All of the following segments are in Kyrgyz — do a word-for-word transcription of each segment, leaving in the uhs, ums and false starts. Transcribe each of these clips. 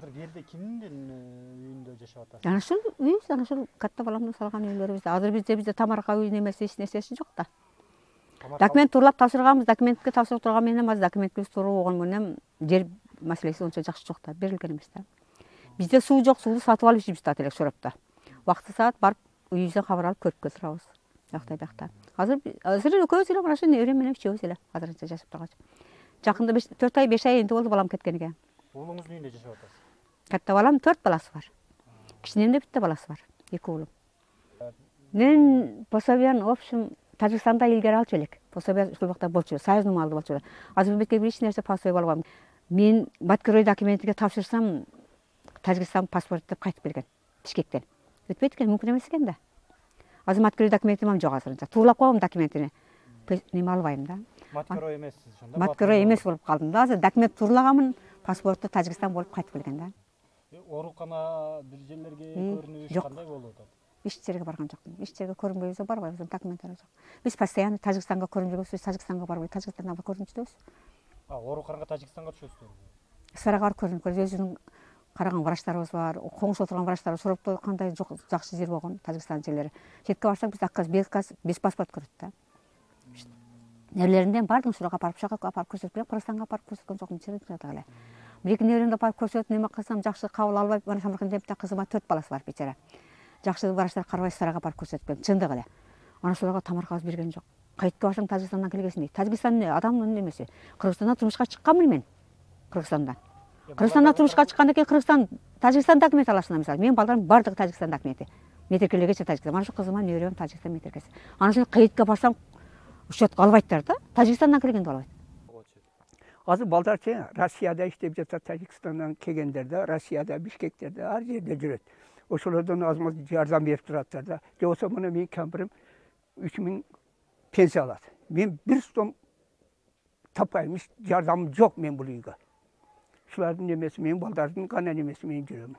азыр жерде кимдин үйүндө жашап атасыз? Ana ушул үйүбүз, ana ушул катта баламдын салган үйлөрүбүз. Азыр бизде бизде тамарка үй немеси эч нерсеси жок да. Документ турлап тапшырганбыз, документке тапшырып турган менен азыр документибиз туруп болгон менен жер маселеси ончо жакшы жок да, берилген эмес да. Бизде суу жок, сууну сатып алып ичибиз да элек Шоропто. Вакыты саат барып үйүбүздөн кабар алып көрүп турабыз. Жактай бакта. Азыр азыр экөөбүз эле мына ушу неберем менен үчөөбүз эле азырынча жашап турганчы. Жакында төрт ай беш ай энди болду балам кеткениге. Уулуңуздун үйүндө жашап атасыз? Катта балам төрт баласы бар. Кичинемде битте баласы бар. эки уулум. Мен пособияны в общем Тажикстанда илгери алчу элек. Пособия ушул убакта болчу, союзный малды болчу. Азыр бетке бир эч нерсе пособия болуп албайм. Мен Баткерой документиге тапшырсам Тажикстан паспорт деп кайтып келген Бишкектен. Өтпөйт экен, мүмкүн эмес экен да. Азыр Баткерой документим жок азырынча. Турлап коем документини. Неме албайм да. Маткерой эмессиз ошондо? Маткерой эмес болуп калдым да. Азыр документ турлаганмын, паспорту Тажикстан болуп кайтып келген да. Оорукана бир жерлерге көрүнүш кандай болуп атат? Эч жерге барган жокмун. Эч жерге көрүнбөйбүз, барбайбыз, документтер жок. Биз постоянно Тажикстанга көрүнүп жүрөбүз, Тажикстанга барбай, Тажикстанга көрүнүп жүрөбүз. А, ооруканага Тажикстанга түшөсүзбү? Сарага барып көрүнүп көрөбүз. Өзүнүн караган врачтарыбыз бар, коңшу отурган врачтар, Шоропто кандай жакшы жер болгон Тажикстан жерлери. Четке барсак биз аказ, без паспорт көрөт да. Нерлеринен бардыгын сурак апарып, шакак апарып көрсөтүп, Кыргызстанга апарып көрсөткөн жокмун, чырык эле. Бир-эки неберемди апарып көрсөтүп, неме кылсам жакшы кабыл албай, мына Самаркандда кызыма төрт баласы бар бечара. Жакшы врачтар карабай Сарага барып көрсөткөн, чындык эле. Ана ошолорго тамаркабыз берген жок. Кайтып барсаң Тажикстандан келгесиң дейт. Тажикстан эмне? Адамдын немеси. Кыргызстандан турмушка чыкканмын мен. Кыргызстандан. Кыргызстандан турмушка чыккандан кийин Кыргызстан, Тажикстан документ аласың мисалы. Менин балдарым бардыгы Тажикстан документи. Метркелегече Тажикстан. Мана ошо кызыма неберем Тажикстан метркеси. Ана ошо кайытка барсам учетко албайттар да. Тажикстандан келгенди албайт. Азыр балдарчы Россияда иштеп жатат, Тажикстандан келгендерде, Россияда, Бишкектерде, ар жерде жүрөт. Ошолордон аз-маз жардам берип тураттар да. Же болсо мына менин кемпирим үч миң пенсия алат. Мен бир сом таппайм, жардамым жок мен бул үйгө. Шулардын немеси менин балдардын гана немеси мен жүрөмүн.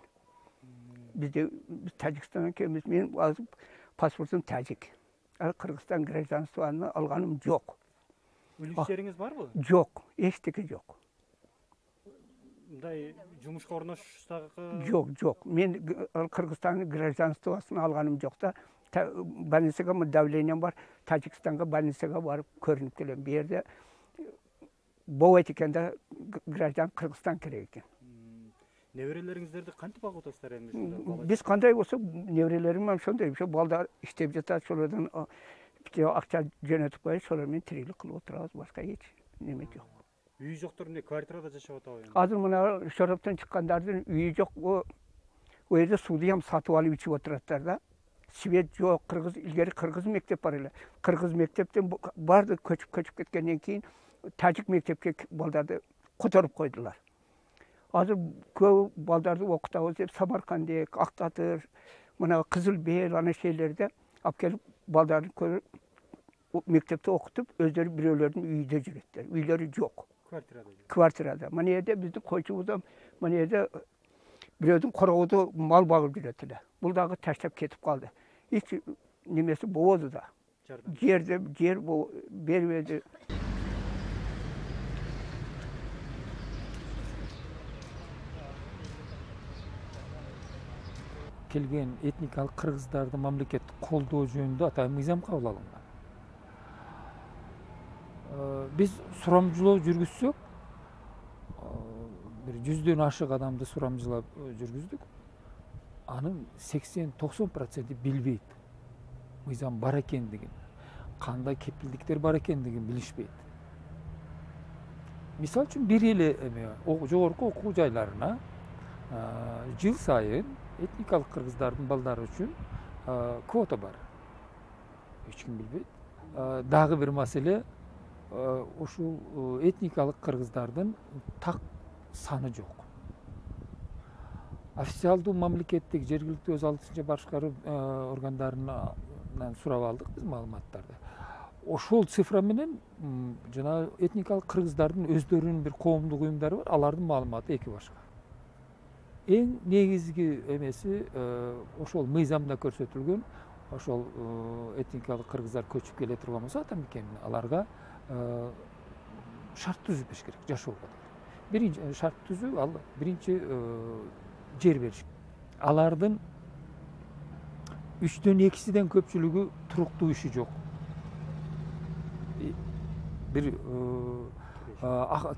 Бизде Тажикстандан келебиз. Мен азыр паспортум тажик. Ал Кыргызстан гражданствону алганым жок. Үлүштериңиз барбы? Жок, эчтеке жок. Мындай жумушка орношсак? Жок, жок. Мен Кыргызстан гражданствосын алганым жок да. Больницага давлением бар. Тажикстанга больницага барып көрүнүп келем. Бу жерде болбойт экен да, граждан Кыргызстан керек экен. Неберелериңиздерди кантип багып атасыздар эми? Биз кандай болсо, неберелерим ошондой, ошо балдар иштеп жатат, ошолордон акча жөнөтүп коюп, ошолор менен тирилик кылып отурабыз, башка эч неме жок. Үйү жоктор эмне, квартирада жашап атабы? Азыр мына Шороптон чыккандардын үйү жок, о жерде сууну ham сатып алып ичип отураттар да. Свет жок, кыргыз илгери кыргыз мектеп бар эле. Кыргыз мектептен барды көчүп-көчүп кеткенден кийин тажик мектепке балдарды которуп койдулар. Азыр көп балдарды окутабыз деп Самаркандек, Актатыр, мына Кызыл Бел ана жерлерде алып келип балдарды көрүп мектепте окутуп, өздөрү бирөөлөрдүн үйүндө жүрөттөр. Үйлөрү жок. Квартирада. Квартирада. Мына жерде биздин койчубуз мына жерде бирөөдүн короодо мал багып жүрөт эле. Бул дагы таштап кетип калды. Эч немеси болбоду да. Жерде жер бербеди. Келген этникалык кыргыздарды мамлекеттик колдоо жөнүндө атайын мыйзам кабыл алынган. Биз сурамжылоо жүргүзсөк, бир жүздөн ашык адамды сурамжылап жүргүздүк. Анын сексен токсон проценти билбейт. Мыйзам бар экендигин, кандай кепилдиктер бар экендигин билишпейт. Мисалы үчүн бир эле эме жогорку окуу жайларына жыл сайын этникалык кыргыздардын балдары үчүн квота бар. Эч ким билбейт. Дагы бир маселе, ушул этникалык кыргыздардын так саны жок. Официалдуу мамлекеттик жергиликтүү өз алдынча башкаруу органдарынан сурап алдык биз маалыматтарды. Ошол цифра менен жана этникалык кыргыздардын өздөрүнүн бир коомдук уюмдары бар, алардын маалыматы эки башка. Эң негизги эмеси ошол мыйзамда көрсөтүлгөн, ошол этникалык кыргыздар көчүп келе турган болсо ата мекенин, аларга шарт түзүп бериш керек жашоого. биринчи шарт түзүү, ал биринчи жер бериш. Алардын үчтөн экисиден көпчүлүгү туруктуу иши жок. Бир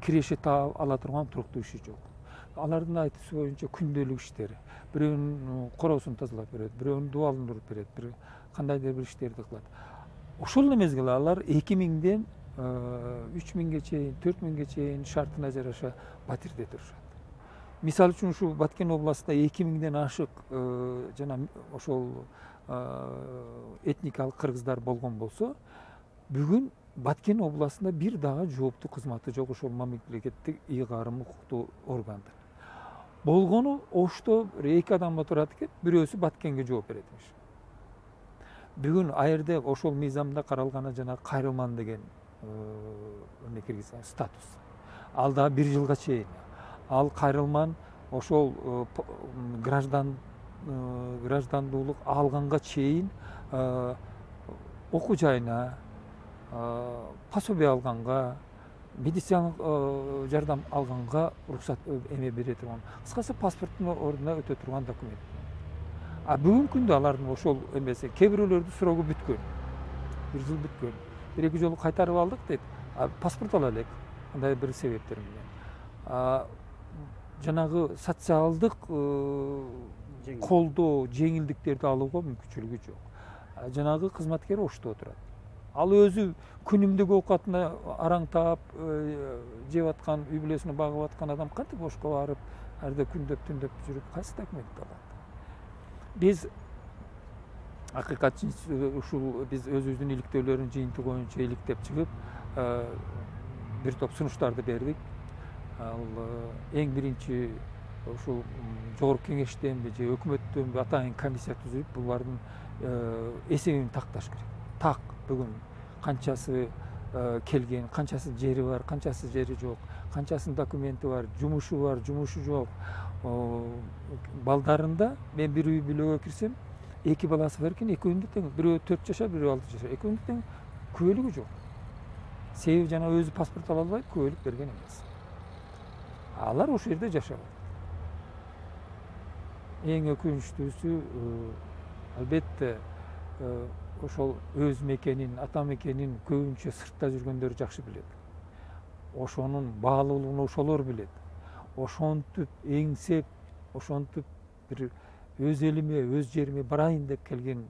киреше таап ала турган туруктуу иши жок. Алардын айтуусу боюнча күндөлүк иштери. Бирөөнүн короосун тазалап берет, бирөөнүн дубалын уруп берет, бир кандайдыр бир иштерди кылат. Ошол мезгилде алар эки миңден үч миңге чейин, төрт миңге чейин шартына жараша батирде турушат. Мисалы үчүн ушу Баткен областында эки миңден ашык жана ошол этникалык кыргыздар болгон болсо, бүгүн Баткен областында бир дагы жооптуу кызматы жок ошол мамлекеттик ыйгарым укуктуу органдар. Болгону Ошто эки адам турат экен, бирөөсү Баткенге жооп берет эмиш. Бүгүн ал жерде ошол мыйзамда каралган жана кайрылман деген эмне киргизген статус. Ал да бир жылга чейин. Ал кайрылман ошол граждан граждандуулук алганга чейин окуу жайына, пособие алганга, медициналык жардам алганга уруксат эме бере турган. Кыскасы паспорттун ордуна өтө турган документ. А бүгүнкү күндө алардын ошол эмеси кээ бирөөлөрдүн срогу бүткөн. Бир жыл бүткөн. Бир эки жолу кайтарып алдык дейт. Паспорт ала элек. Андай бир себептер менен. Жанагы социалдык колдоо, жеңилдиктерди алууга мүмкүнчүлүгү жок. Жанагы кызматкер Ошто отурат. Ал өзү күнүмдүк оокатына араңтап жеп аткан, үй бүлөсүнө багып аткан адам кантип Ошко барып, арда күндөп түндөп жүрүп кайсы документти алат? Биз акыйкатчы ушул биз өзүбүздүн иликтөөлөрүн жыйынтыгы боюнча иликтеп чыгып, бир топ сунуштарды бердик. Ал эң биринчи ушул жогорку кеңештенби же өкмөттөнбү атайын комиссия түзүп, булардын эсебин такташ керек. Так бүгүн канчасы келген, канчасы жери бар, канчасы жери жок, канчасынын документи бар, жумушу бар, жумушу жок. Балдарында мен бир үй бүлөгө кирсем, эки баласы бар экен, экөөнү тең, бирөө төрт жашар, бирөө алты жашар, экөөнү тең күбөлүгү жок. Себеби жана өзү паспорт ала албайт, күбөлүк берген эмес. Алар ошол жерде жашабайт. Эң өкүнүчтүүсү албетте ошол өз мекенин, ата мекенин көбүнчө сыртта жүргөндөр жакшы билет. Ошонун баалуулугун ошолор билет. Ошентип эңсеп, ошентип бир өз элиме, өз жериме барайын деп келген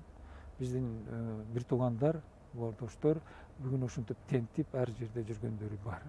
биздин бир туугандар, ордоштор бүгүн ошентип тентип ар жерде жүргөндөрү бар.